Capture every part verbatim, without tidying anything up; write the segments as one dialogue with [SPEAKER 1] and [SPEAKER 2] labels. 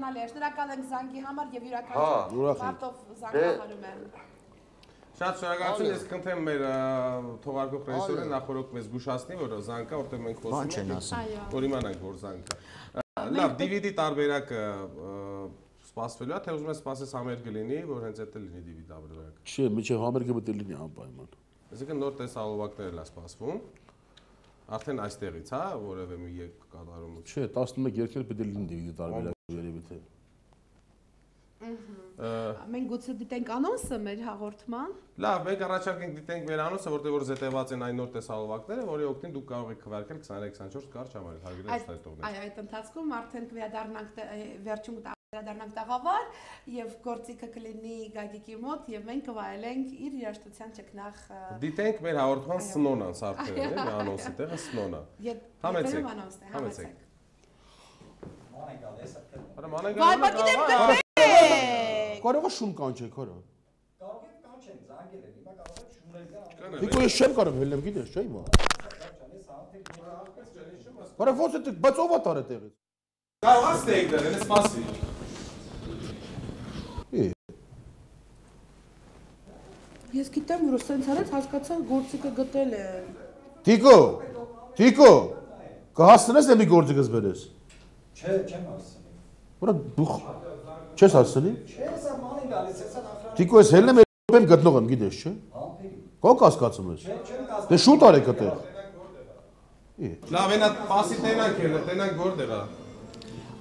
[SPEAKER 1] Շնորհակալ ենք զանգի համար եւ յուրաքանչյուր մարդով զանգահարում եմ։
[SPEAKER 2] Շատ շնորհակալություն, ես կընթեմ մեր թողարկող ռեժիսորին նախորդ մեզ զգուշացնի, որ զանգա, որտեղ մենք խոսում ենք, որ իմանանք, որ զանգա։ Լավ, դի վի դի տարբերակը սպասվելու է, թե ուզում ես սպասես համերգը լինի, որ հենց այդ է լինի դի վի տարբերակը։
[SPEAKER 3] Չէ, միջև համերգը պետք է լինի անպայման։
[SPEAKER 2] Այսինքն նոր տեսահոլովակներ է սպասվում։ Արդեն այստեղից, հա, որևէ մի երկ կատարում։
[SPEAKER 3] Չէ, տասնմեկ երկեր պետք է լինի դի վի տարբերակը երևի թե։
[SPEAKER 1] Մենք գուցե դիտենք անոնսը մեր հաղորդման։
[SPEAKER 2] Լավ, մենք առաջարկ ենք դիտենք մեր անոնսը, որտեղ որ զետեղված են այն նոր տեսահոլովակները, որի օգտին դուք կարող եք քվարկել քսաներեք քսանչորս կարճ համարել հարգելի ուշադրողներ։
[SPEAKER 1] Այո, այդ ընթացքում արդեն կվերադառնանք վերջում կվերադառնանք տաղավար եւ գործիքը կլինի Գագիկի մոտ եւ մենք կվայելենք իր երաժշտության ճկնախ։
[SPEAKER 2] Դիտենք մեր հաղորդման սնոնան, սարքերը, էլի, անոնսի տեղը սնոնա։ Համեցեք, համեցեք։ Մանեն գալիս է։ Արա մանեն գալիս։
[SPEAKER 3] Կարող է շուն կանչեք, հորա։
[SPEAKER 4] Կարող եք կանչենք, զանգել են, հիմա կարող եք շունել գան։
[SPEAKER 3] Դիքո ես չեմ կարող հելեմ, գիտես, չէ՞ հիմա։ Հորա ո՞նց է, բայց ով է տարե տեղից։
[SPEAKER 2] Կարող է ստեյք դեր, ես սպասի։
[SPEAKER 1] Ես գիտեմ, որ սենց արեց հասկացա գործիքը գտել է։
[SPEAKER 3] Դիքո, Դիքո, կհասցնես դեմի գործիքս բերես։
[SPEAKER 4] Չէ, չեմ հասցնի։
[SPEAKER 3] Հորա դու չես հասցնի։
[SPEAKER 4] Չէ, սա մանին գալիս է, սա նախրան։
[SPEAKER 3] Դիքո ես հելնեմ եմ գտնող եմ, գիտես, չէ։ Կո կասկածում ես։
[SPEAKER 4] Չէ, չեմ կասկածում։
[SPEAKER 3] Դե շուտ արեք այդտեղ։
[SPEAKER 2] Լավ, այնա պասի տենանք էլ, տենանք գործեր է։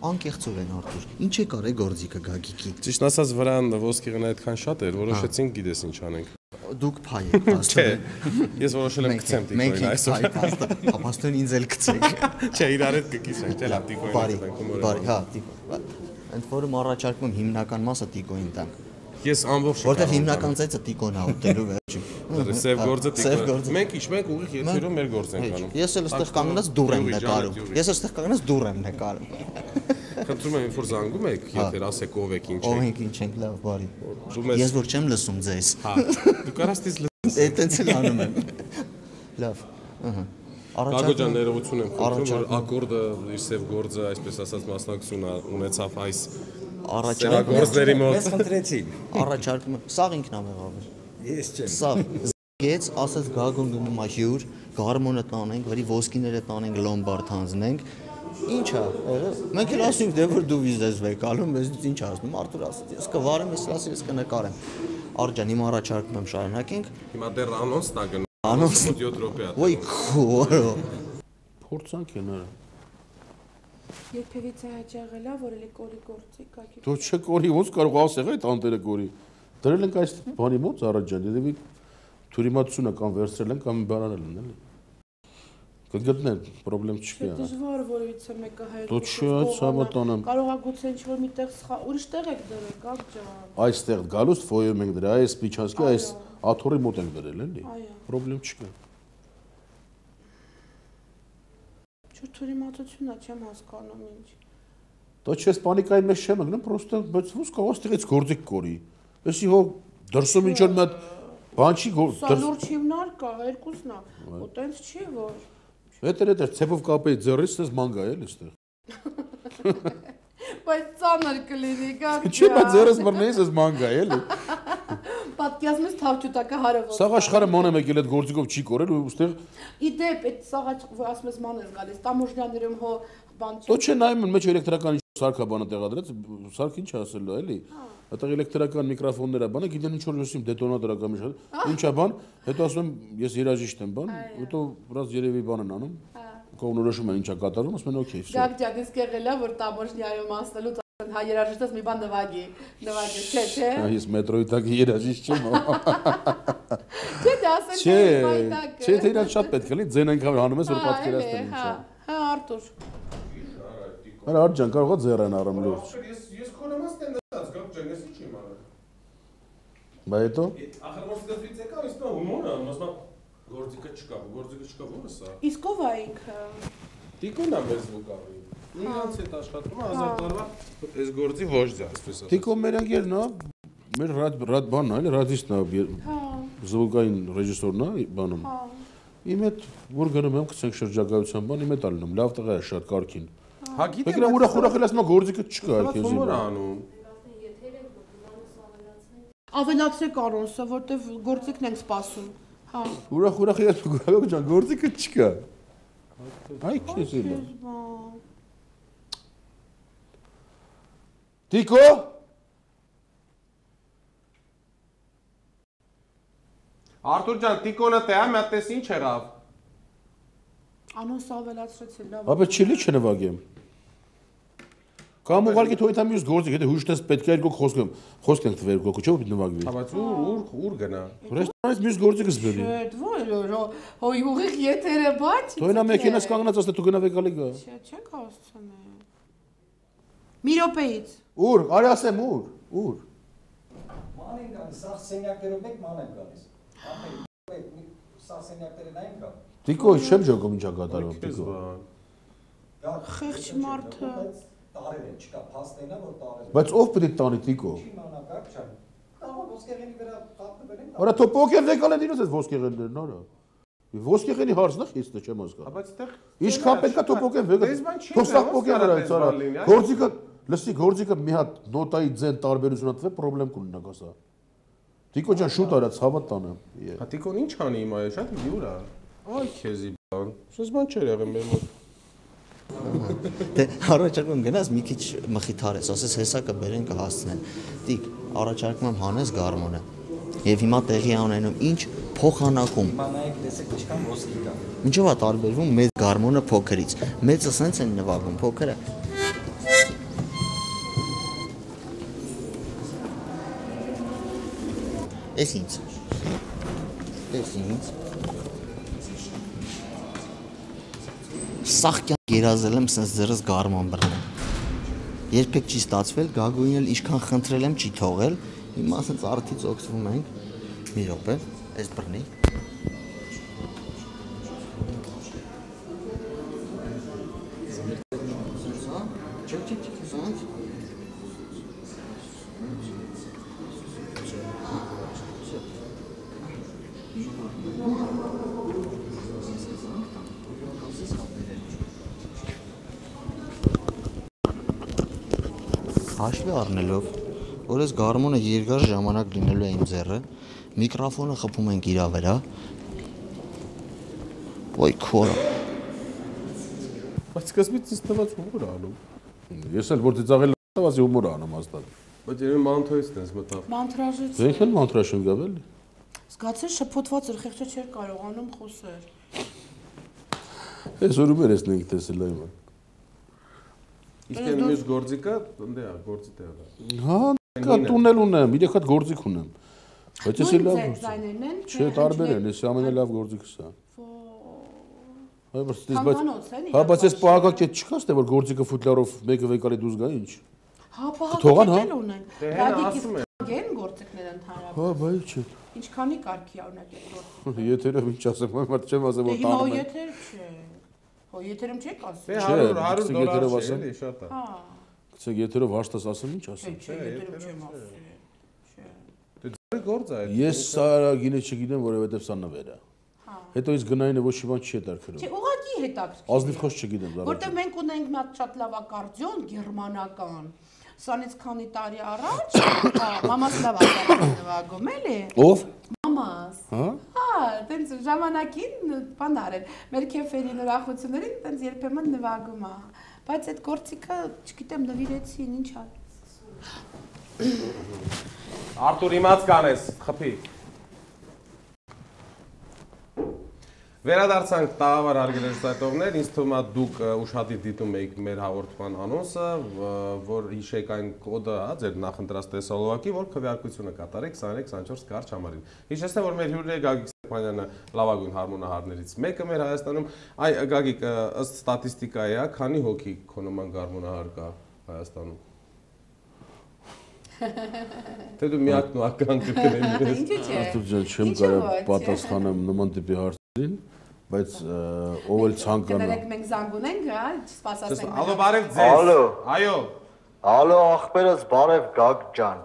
[SPEAKER 5] Անկեղծով են Արտուր, ինչ է կարե գործիքը Գագիկի։
[SPEAKER 2] Ճիշտ ասած վրան ոսկեղն այդքան շատ էր, որոշեցինք գիտես ինչ անենք։
[SPEAKER 5] Դուք փայ եք
[SPEAKER 2] փաստորեն։ Ես որոշել եմ գցեմ տիկոին այսօր։
[SPEAKER 5] Փաստորեն ինձ էլ գցեք։
[SPEAKER 2] Չէ, իրար հետ կկիսենք, չէ՞ լավ տիկոին։
[SPEAKER 5] Բարի, բարի, հա, տիկո։ Ընդ որում առաջարկում եմ հիմնական մասը տիկոին տանք։
[SPEAKER 2] Ես ամբողջ
[SPEAKER 5] որտեղ հիմնական ծեծը տիկոն է ուտելու վերջում։
[SPEAKER 2] Սև գործը տիկոն։ Մենք ինչ մենք ուղիղ եթերում մեր գործ ենք անում։
[SPEAKER 5] Ես էլ այստեղ կանգնած դուռ եմ նկարում։ Ես այստեղ կանգնած դուռ եմ նկարում։
[SPEAKER 2] Խնդրում եմ, որ զանգում եք, եթե ասեք ով եք, ինչ եք։
[SPEAKER 5] Ով եք, ինչ եք, լավ, բարի։ Ես որ չեմ լսում ձեզ։
[SPEAKER 2] Հա, դու կարաս դից լսես։
[SPEAKER 5] Այդտենց էլ անում եմ։ Լավ, ըհը։
[SPEAKER 2] Գագոջան ներողություն եմ խնդրում, որ ակորդը իր սև գործը, այսպես ասած, մասնակցություն ունեցավ այս
[SPEAKER 5] առաջարկների
[SPEAKER 2] մոտ։
[SPEAKER 4] Ես խնդրեցին։
[SPEAKER 5] Առաջարկում եմ, սաղ ինքն ա եղավ։
[SPEAKER 4] Ես չեմ։
[SPEAKER 5] Սաղ գեց, ասած Գագոն գնում ա հյուր, գարմոնը տանենք, վրի ոսկիները տանենք, լոմբարդ հանձնենք։ Ինչ է, մենք էլ ասում ենք, դե որ դու վիզես վեք ալում, ես ինչ ասում, Արտուր ասաց, ես կվարեմ, ես ասի, ես կնկարեմ։ Արջան, հիմա առաջարկում եմ շարունակենք։
[SPEAKER 2] Հիմա դեռ անոնսն ա գնում։
[SPEAKER 5] Անոնսը
[SPEAKER 2] յոթ րոպե է։
[SPEAKER 5] Ոյ քորո։
[SPEAKER 3] Փորձանք են արա։
[SPEAKER 1] Երբևիցե հաճաղել է, որ էլի կորի գործի Գագիկի։
[SPEAKER 3] Դու չկորի, ոնց կարող ասեղ այդ անտերը կորի։ Դրել ենք այս բանի մոտ առաջան, դեպի թուրիմացությունը կամ վերցրել են կամ բարանել են, էլի։ Կգտնեն, պրոբլեմ չկա։
[SPEAKER 1] Դժվար որևիցե մեկը հայտնի։
[SPEAKER 3] Դու չի ցավատանամ։
[SPEAKER 1] Կարող է գուցե ինչ-որ միտեղ ուրիշ տեղ եք դրել, կապ ջան։
[SPEAKER 3] Այստեղ գալուց ֆոյում ենք դրել, այս Պիչասկի, այս աթոռի մոտ ենք դրել, էլի։ Պրոբլեմ չկա։
[SPEAKER 1] Չէ, թուրիմացությունն է, չեմ հասկանում ինչ։
[SPEAKER 3] Դա չես պանիկայի մեջ չեմ գնում, պրոստը բայց ոնց կարող ստեղից գործիկ կորի։ Էսի հո դրսում ինչ որ մի հատ բան չի գործ։
[SPEAKER 1] Սա լուրջ հիմնարկ է, երկուսն է։ Ու տենց չի որ։
[SPEAKER 3] Հետեր հետեր ցեփով կապեի ձեռից, դες մանգա էլ էստեղ։
[SPEAKER 1] Բայց ծանր կլինի, գա։
[SPEAKER 3] Չի, բայց ձեռս բռնեիս էս մանգա էլի։
[SPEAKER 1] Պատկերացնում ես թավջութակը հարևոց։
[SPEAKER 3] Սաղ աշխարհը ման եմ եկել այդ գործիկով չի կորել ու ուստեղ։
[SPEAKER 1] Իդեպ այդ սաղաչ որ ասում ես ման ես գալիս, տամոժնյաներում հո բան չի։
[SPEAKER 3] Դո չէ նայում են մեջ էլեկտրական սարքա բանը տեղադրած, սարք ինչ ասելու էլի։ Այդտեղ էլեկտրական միկրոֆոններ է բանը, գիտեն ինչ որ լուսիմ դետոնատոր ակամի շատ։ Ինչա բան, հետո ասում եմ ես երաժիշտ եմ բան, հետո բրած երևի բան են անում։ Կողնորոշում են ինչա կատարվում, ասում են օքեյ, վсё։
[SPEAKER 1] Գագջան իսկ եղել է որ տամոժնյայում ասնելուց հա երաժիշտս մի բան նվագի, նվագի, չէ, չէ։
[SPEAKER 3] Այս մետրոյի տակի երաժիշտ չեմ։
[SPEAKER 1] Չէ, դա ասել
[SPEAKER 3] Չէ, չէ, թե իրան շատ պետք է լինի, ձեն այնքան հանում ես որ պատկերացնեմ ինչա։
[SPEAKER 1] Հա, Արտուր։
[SPEAKER 3] Արա Արջան կարող է ձեռն առամ լուրջ։
[SPEAKER 2] Ես ես քոնամաստ եմ նստած, Գագոջան, ես ինչ եմ արել։
[SPEAKER 3] Բա հետո։
[SPEAKER 2] Ախր որ ստեղծից եկա, իսկ նա հումոր է, մասնա գործիկը չկա, գործիկը չկա, ո՞ր է սա։
[SPEAKER 1] Իսկ ով է ինքը։
[SPEAKER 2] Տիկոն է մեզ վկարի։ Իրանց հետ աշխատում է հազար տարվա այս գործի ոչ դա, այսպես ասած։
[SPEAKER 3] Տիկո մեր անգերն է, մեր ռադ ռադ բանն է, էլի ռադիստն է, զվուկային ռեժիսորն է բանում։ Իմ հետ որ գնում եմ գցենք շրջագայության բան, իմ հետ ալնում, լավ տղա է շատ կարքին։
[SPEAKER 2] Հա գիտեմ,
[SPEAKER 3] Եկել ուրախ ուրախ էլ ասում գործիքը չկա քեզ։
[SPEAKER 2] Ո՞ր անում։
[SPEAKER 1] Ավելացրեք Արոնսը, որտեվ գործիքն ենք սպասում։ Հա։
[SPEAKER 3] Ուրախ ուրախ ես գորգ ջան, գործիքը չկա։ Այ քեզ էլ։ Տիկո։
[SPEAKER 2] Արտուր ջան, Տիկոնը տեա, մի հատ տես ինչ եղավ։
[SPEAKER 1] Անոնսը ավելացրեցի, լավ։
[SPEAKER 3] Ապա չելի չնվագեմ։ Կամ ուղղակի թողի տա մյուս գործիք, եթե հուշտես պետք է երկու խոսք խոսք ենք տվել գոկու, չէ՞ որ նվագվի։
[SPEAKER 2] Հա բայց ուր ուր ուր գնա։
[SPEAKER 3] Ռեստորանից մյուս գործիքս բերի։
[SPEAKER 1] Չէ, ո՞ր հոյ ուղիղ եթերը բաց։
[SPEAKER 3] Թողի նա մեքենաս կանգնած ասել դու գնա վեկալի գա։
[SPEAKER 1] Չէ, չեք հասցնի։ Մի րոպեից։
[SPEAKER 3] Ուր, արի ասեմ ուր, ուր։
[SPEAKER 4] Ման են գալիս, սաղ սենյակներով մեկ ման են գալիս։ Սաղ սենյակները նա են գալ։
[SPEAKER 3] Տիկո, չեմ ջոկում ինչա կատարում, Տիկո։
[SPEAKER 1] Խեղճ մարդը։
[SPEAKER 4] Տարել են, չկա, փաստենա, որ տարել են։
[SPEAKER 3] Բայց ով պետք է տանի Տիկո։
[SPEAKER 4] Չի մանագակ չան։ Կարող ոսկեղենի վրա կապտվել են։
[SPEAKER 3] Արա թո պոկեր վեկալ են իրոց այդ ոսկեղեններն, արա։ Ոսկեղենի հարցն է խիստ է, չեմ հասկանում։
[SPEAKER 2] Բայց այդտեղ
[SPEAKER 3] Ինչքան պետքա թո պոկեն վեկալ։ Թո սաղ պոկեն վրա այս արա։ Գործիքը, լսի, գործիքը մի հատ նոտայի ձեն տարբերություն ատվե, պրոբլեմ կունենա կասա։ Տիկո ջան շուտ արա, ցավը տանեմ։
[SPEAKER 2] Հա Տիկոն ինչ անի հիմա, շատ յուր է։ Այ քեզի բան։ Սոս բան չէր եղել մեր մոտ։
[SPEAKER 5] Դե առաջարկում գնաս մի քիչ մխիթարես, ասես հեսա կբերեն կհասցնեն։ Տիկ, առաջարկում եմ հանես գարմոնը։ Եվ հիմա տեղի ունենում ինչ փոխանակում։
[SPEAKER 4] Հիմա նայեք տեսեք ինչքան ոսկի կա։
[SPEAKER 5] Ինչով է տարբերվում մեծ գարմոնը փոքրից։ Մեծը սենց են նվագում, փոքրը։ Էս ինձ։ Էս ինձ։ Սաղ կյանք երազել եմ սենց ձերս գարման բռնել։ Երբեք չի ստացվել, Գագույնն էլ ինչքան խնդրել եմ չի թողել։ Հիմա սենց արդից օգտվում ենք։ Մի րոպե, էս բռնի։ Չեք չեք չեք սենց։ Հաշվի առնելով, որ այս գարմոնը երկար ժամանակ լինելու է իմ ձեռը, միկրոֆոնը խփում ենք իրա վրա։ Ոյ քորա։
[SPEAKER 3] Բայց սկզբից ինձ թվաց հումոր անում։ Ես էլ որ ծիծաղել տվացի հումոր անում հաստատ։
[SPEAKER 2] Բայց երբ մանթոյից տես մտավ։
[SPEAKER 1] Մանտրաժից։
[SPEAKER 3] Դե ինքն մանտրաշ եմ գավել։
[SPEAKER 1] Զգացել շփոթված էր, խեղճը չէր կարողանում խոսել։
[SPEAKER 3] Այս օրում էր էսնենք տեսել այմը։
[SPEAKER 2] Իսկ այն մյուս գործիկը, ընդ է, գործի տեղը։
[SPEAKER 3] Հա, կա տունել ունեմ, իրեք հատ գործիք ունեմ։ Բայց էս էլ լավ գործիք։ Չէ, տարբեր են, էս ամենալավ գործիքս է։ Այ բայց հա, բայց էս պահակակետ չկա, ստե որ գործիքը ֆուտլարով մեկը վեկալի դուրս գա ինչ։
[SPEAKER 1] Հա, պահակակետ ունեն։
[SPEAKER 2] Ասում եմ։
[SPEAKER 1] Գեն գործիքներ ընդհանրապես։
[SPEAKER 3] Հա, բայց չէ։
[SPEAKER 1] Ինչքանի կարգի է ունեք այդ գործիքը։
[SPEAKER 3] Եթերով ինչ ասեմ, մարդ չեմ ասեմ որ
[SPEAKER 1] Հիմա
[SPEAKER 3] տանում եմ։
[SPEAKER 1] եթեր չէ։ Հո եթերում չեք ասում։
[SPEAKER 2] Դե հարյուր հարյուր դոլար չէ, էլի շատ է։
[SPEAKER 1] Հա։
[SPEAKER 3] Գցեք եթերով հաշտած ասեմ ինչ ասեմ։
[SPEAKER 1] Չէ, եթերում չեմ ասում։ Չէ։
[SPEAKER 2] Դե ձեր գործ է այդ։
[SPEAKER 3] Ես սա գինը չգիտեմ, որովհետև սա նվեր է։
[SPEAKER 1] Հա։
[SPEAKER 3] Հետո իսկ գնայինը ոչ մի բան չի հետաքրքրում։
[SPEAKER 1] Չէ, ուղղակի հետաքրքիր։
[SPEAKER 3] Ազնիվ խոսք չգիտեմ դառը։
[SPEAKER 1] Որտեղ մենք ունենք մի հատ շատ լավ ակարդեոն գերմանական։ Սրանից քանի տարի առաջ, հա, մամաս լավ ակարդեոն նվագում էլի։
[SPEAKER 3] Ով։
[SPEAKER 1] Մամաս։
[SPEAKER 3] Հա։
[SPEAKER 1] Հա, տենց ժամանակին բան արել։ Մեր քեֆերին ուրախություններին տենց երբեմն նվագում է։ Բայց այդ գործիքը, չգիտեմ, նվիրեցին, ինչ ա։
[SPEAKER 2] Արտուր իմաց կանես, խփի։ Վերադարձանք տաղավար հարգելի հեռուստատիտողներ, ինձ թվում է դուք ուշադիր դիտում եք մեր հաղորդման անոնսը, որ հիշեք այն կոդը, հա, ձեր նախընտրած տեսալովակի, որ քվեարկությունը կատարեք քսաներեք քսանչորս կարճ համարին։ Հիշեցնեմ, որ մեր հյուրն է Գագիկ Ստեփանյանը, լավագույն հարմոնահարներից մեկը մեր Հայաստանում։ Այ Գագիկ, ըստ ստատիստիկայի, հա, քանի հոգի քո նման հարմոնահար կա Հայաստանում։ Թե դու միակն ու ականք կգնես։
[SPEAKER 1] Ինչու՞ չէ։
[SPEAKER 3] Արտուր ջան, չեմ կարող պատասխանեմ նման տիպի հարցերին, բայց ով էլ ցանկանա։
[SPEAKER 1] Կներեք մենք զանգ ունենք, հա, սպասացնենք։
[SPEAKER 2] Ալո, բարև ձեզ։
[SPEAKER 6] Ալո։
[SPEAKER 2] Այո։
[SPEAKER 6] Ալո, ախպերս բարև Գագ ջան։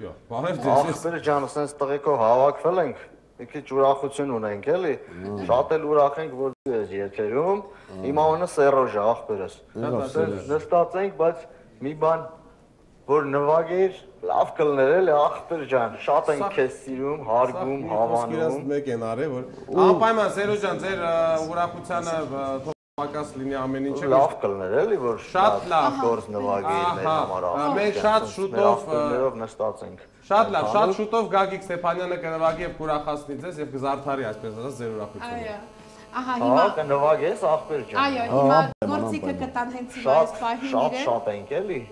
[SPEAKER 2] Յո, բարև ձեզ։
[SPEAKER 6] Ախպեր ջան, ասենց տղեկով հավաքվել ենք։
[SPEAKER 5] մի քիչ ուրախություն ունենք էլի, շատ էլ ուրախ ենք, որ դու ես եթերում, իմ անունը Սերոժ է, աղբերս։ Նստած ենք, բայց մի բան, որ նվագեր, լավ կլներ էլի, աղբեր ջան, շատ ենք քեզ սիրում, հարգում, հավանում։
[SPEAKER 2] Մեկ են արել, որ անպայման Սերոժ ջան, ձեր ուրախությանը Պակաս լինի ամեն ինչը
[SPEAKER 5] լավ կլներ էլի որ
[SPEAKER 2] շատ լավ
[SPEAKER 5] գործ նվագի մեր համար
[SPEAKER 2] մենք շատ շուտով
[SPEAKER 5] նստած ենք
[SPEAKER 2] շատ լավ շատ շուտով Գագիկ Ստեփանյանը կնվագի եւ կուրախացնի ձեզ եւ կզարդարի այսպես ասած ձեր ուրախությունը
[SPEAKER 1] այո ահա հիմա
[SPEAKER 5] կնվագես աղբեր ջան
[SPEAKER 1] այո հիմա գործիքը կտան հենց հիմա այս պահին
[SPEAKER 5] իրեն շատ շատ ենք էլի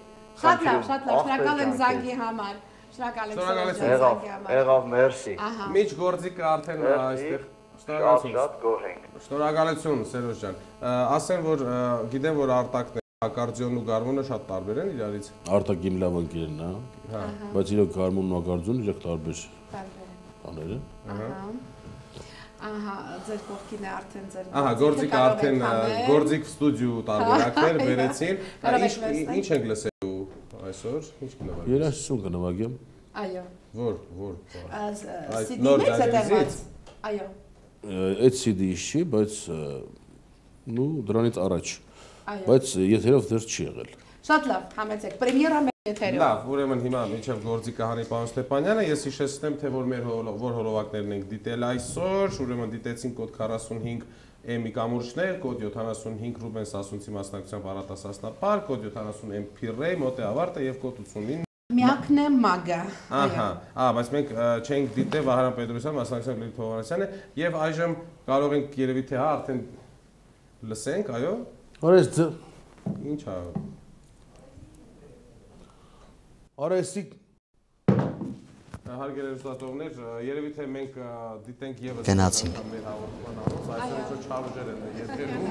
[SPEAKER 1] շատ լավ շատ լավ շնորհակալ եմ զանգի համար շնորհակալ եմ զանգի համար
[SPEAKER 5] եղավ մերսի
[SPEAKER 2] միջ գործիքը արդեն այստեղ
[SPEAKER 5] Շատ գոհ ենք։
[SPEAKER 2] Շնորհակալություն Սերոժ ջան։ Ասեմ որ գիտեմ որ Արտակն ակարդեոնն ու գարմոնը շատ տարբեր են իրարից։
[SPEAKER 3] Արտակ իմ լավ ընկերն է, հա։ Բայց իրոք գարմոնն ու ակարդեոնը իրոք տարբեր բաներ են։
[SPEAKER 1] Ահա, ձեր կողքին է արդեն ձեր։
[SPEAKER 2] Ահա, գործիքը արդեն գործիկ ստուդիո տարբերակներ բերեցին։ Ինչ ենք լսելու այսօր։ Ինչ կնվագենք։
[SPEAKER 3] Երաժշտություն կնվագեմ։
[SPEAKER 1] Այո։
[SPEAKER 2] Որ, որ։
[SPEAKER 1] Սիդի մեծ է դերված։ Այո։
[SPEAKER 3] Այդ սիդի-ից չի, բայց նու դրանից առաջ։ Բայց եթերով դեռ չի եղել։
[SPEAKER 1] Շատ լավ, համեցեք։ Պրեմիերա մեր եթերով։
[SPEAKER 2] Լավ, ուրեմն հիմա միջև գործիքը հանի պարոն Ստեփանյանը, ես հիշեցնեմ, թե որ մեր որ հոլովակներն ենք դիտել այսօր, ուրեմն դիտեցին կոդ քառասունհինգ Էմի կամուրջներ, կոդ յոթանասունհինգ Ռուբեն Սասունցի մասնակցությամբ Արատասասնապար, կոդ յոթանասուն Էմ Փիրրեյ, մոտ է ավարտը եւ կոդ ութսունինը
[SPEAKER 1] Միակն է մագա։
[SPEAKER 2] Ահա, ահա, բայց մենք չենք դիտել Վահրամ Պետրոսյան, մասնակցությամբ Լիլիթ Հովհաննիսյանը եւ այժմ կարող ենք երևի թե հա արդեն լսենք, այո։
[SPEAKER 3] Արես դ
[SPEAKER 2] Ինչ է։
[SPEAKER 3] Արեսի
[SPEAKER 2] Հարգելի ուսուցողներ, երևի թե մենք դիտենք եւս
[SPEAKER 5] գնացինք
[SPEAKER 2] մեր հաղորդման անոնց, այսօր ինչ չարժեր են եթերում։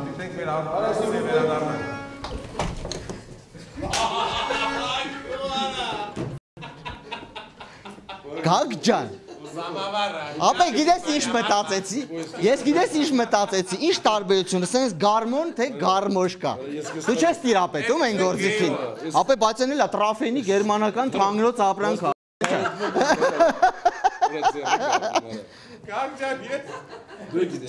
[SPEAKER 2] Դիտենք մեր արարեսի վերադառնանք։
[SPEAKER 5] Գագ ջան Ապա գիտես ինչ մտածեցի Ես գիտես ինչ մտածեցի Ինչ տարբերությունը սենց գարմոն թե գարմոշկա Դու չես տիրապետում են գործիքին Ապա բայց են էլա տրաֆենի գերմանական թանգնոց ապրանք
[SPEAKER 2] Գագ ջան ես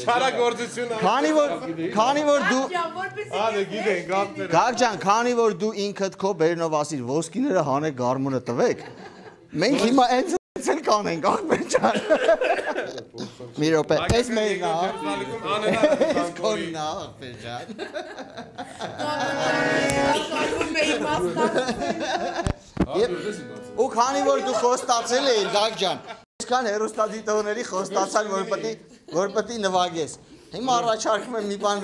[SPEAKER 2] չարագործություն
[SPEAKER 5] Քանի որ քանի որ դու
[SPEAKER 2] Ահա գիտենք գապները
[SPEAKER 5] Գագ ջան քանի որ դու ինքդ քո բերնով ասիր ոսկիները հանեք գարմոնը տվեք Մենք հիմա այնց էլ կանենք աղբեր ջան Մի րոպե էս մերն է Էս քոնն է աղբեր ջան Ու քանի որ դու խոստացել էիր Գագ ջան Այսքան հերոստատիտողների խոստացան որ պետք է որ պետք է նվագես Հիմա առաջարկում եմ մի բան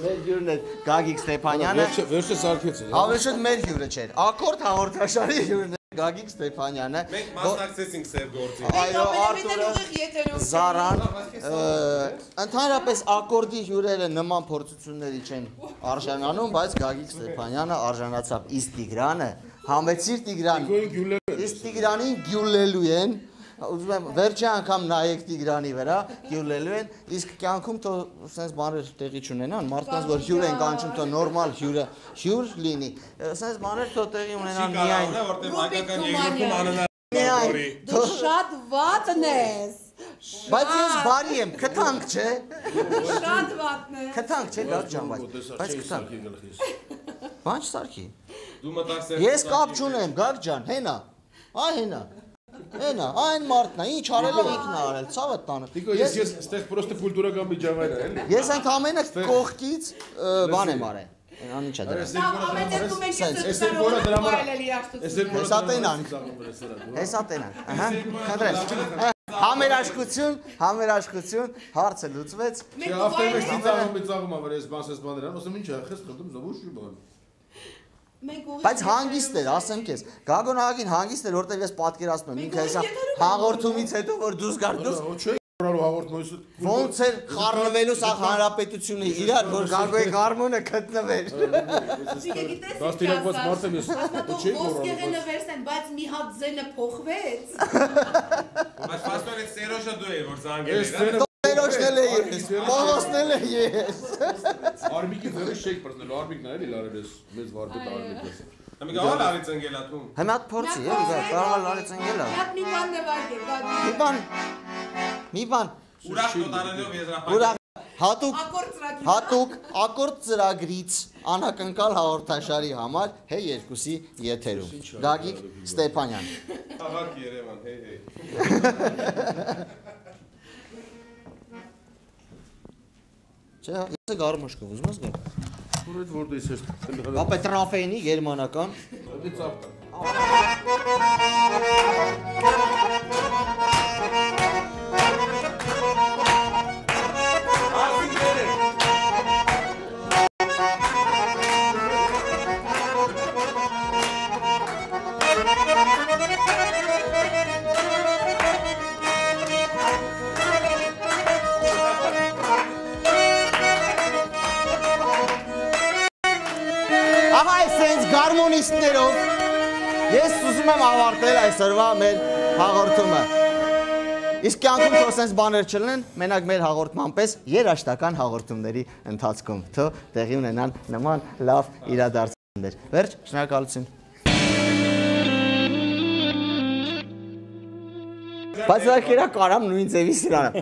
[SPEAKER 5] Մեր հյուրն է Գագիկ Ստեփանյանը
[SPEAKER 3] Վերջը սարքեց
[SPEAKER 5] Հավեշտ մեր հյուրը չէր Ակորդ հաղորդաշարի հյուրն է Գագիկ Ստեփանյանը
[SPEAKER 2] Մենք մասնակցեցինք սեր գործի
[SPEAKER 5] Այո Արտուրը Զարան Ընդհանրապես ակորդի հյուրերը նման փորձությունների չեն արժանանում բայց Գագիկ Ստեփանյանը արժանացավ իսկ Տիգրանը Համեցիր Տիգրան Իսկ Տիգրանին գյուլելու են Ուզում եմ վերջի անգամ նայեք Տիգրանի վրա, գյուլելու են, իսկ կյանքում թո սենց բաներ տեղի չունենան, մարդկանց որ հյուր են կանչում, թո նորմալ հյուրը հյուր լինի, սենց բաներ թո տեղի ունենան միայն։
[SPEAKER 2] Որտեղ հայկական երկրում անհնար
[SPEAKER 1] Դու շատ վատն ես։
[SPEAKER 5] Բայց ես բարի եմ, քթանք չէ։
[SPEAKER 1] Շատ վատն է։
[SPEAKER 5] Քթանք չէ, Գագ ջան, բայց բայց քթանք։ Բան չսարքի։
[SPEAKER 2] Դու մտածես սեր
[SPEAKER 5] Ես կապ չունեմ, Գագ ջան, հենա։ Այ հենա։ Հենա, այն մարդն է, ինչ արել է ինքն է արել, ցավը տանը։
[SPEAKER 3] Տիկո, ես ես այստեղ պրոստը կուլտուրական միջավայր է, էլի։
[SPEAKER 5] Ես ընդամենը կողքից բան եմ արել։ Ան ինչա դրա։
[SPEAKER 1] Ամենեցում ենք ես դրամը դրամը երաշտություն։
[SPEAKER 5] Հեսա տենանք։ Հեսա տենանք։ Ահա, խնդրեմ։ Համերաշխություն, համերաշխություն, հարցը լուծվեց։
[SPEAKER 3] Ավտոմեջ ծիծաղում ծիծաղում ավ ես բանսես բաներ ան, ասում ինչ է, խես խնդում, զովուշի բան։
[SPEAKER 5] Բայց հանգիստ էր, ասեմ քեզ, Գագոն աղագին հանգիստ էր, որտեղ ես պատկերացնում եմ, ինքը հեսա հաղորդումից հետո որ դուրս գար դուրս
[SPEAKER 3] Ռալու հաղորդումից
[SPEAKER 5] ոնց էր խառնվելու սա հանրապետությունը իրար, որ Գագոյի գարմոնը գտնվեր։
[SPEAKER 3] Դաստիարակված մարդ եմ ես, չի գոռալու։
[SPEAKER 1] Ոսկեղենը վերցեն, բայց մի հատ ձենը փոխվեց։
[SPEAKER 2] Բայց փաստորեն Սերոժը դու ես որ զանգել
[SPEAKER 5] Սերոժն էլ է ես, Պողոսն էլ է ես։
[SPEAKER 3] Արմիկի ձեռը շեյք բռնելու, Արմիկն է էլի լարել ես, մեծ վարպետ Արմիկը։
[SPEAKER 2] Մի գալ արի ծնգելա դու։
[SPEAKER 5] Հիմա փորձի, էլի կարող արի ծնգելա։
[SPEAKER 1] Հատ մի բան նվագել, գադի։
[SPEAKER 5] Մի բան։ Մի բան։
[SPEAKER 2] Ուրախ նոտարելով եզրափակ։
[SPEAKER 5] Ուրախ հատուկ
[SPEAKER 1] Ակորդ ծրագիր։
[SPEAKER 5] հատուկ ակորդ ծրագրից անակնկալ հաղորդաշարի համար հե երկուսի եթերում։ Գագիկ Ստեփանյան։
[SPEAKER 2] Աղակ Երևան, հեյ հեյ։
[SPEAKER 5] Չէ, ես գարմոշկով ուզում ես գալ։
[SPEAKER 3] Որ այդ որտե ես
[SPEAKER 5] Ապա տրաֆեինի գերմանական։
[SPEAKER 3] Դե ծափ։
[SPEAKER 5] Ահա այսպես գարմոնիստներով ես ուզում եմ ավարտել այսօրվա մեր հաղորդումը։ Իսկ կյանքում թող sense բաներ չլինեն, մենակ մեր հաղորդման պես երաժշտական հաղորդումների ընթացքում թող տեղի ունենան նման լավ իրադարձություններ։ Վերջ, շնորհակալություն։ Բայց դա կարամ նույն ձևի սրանը։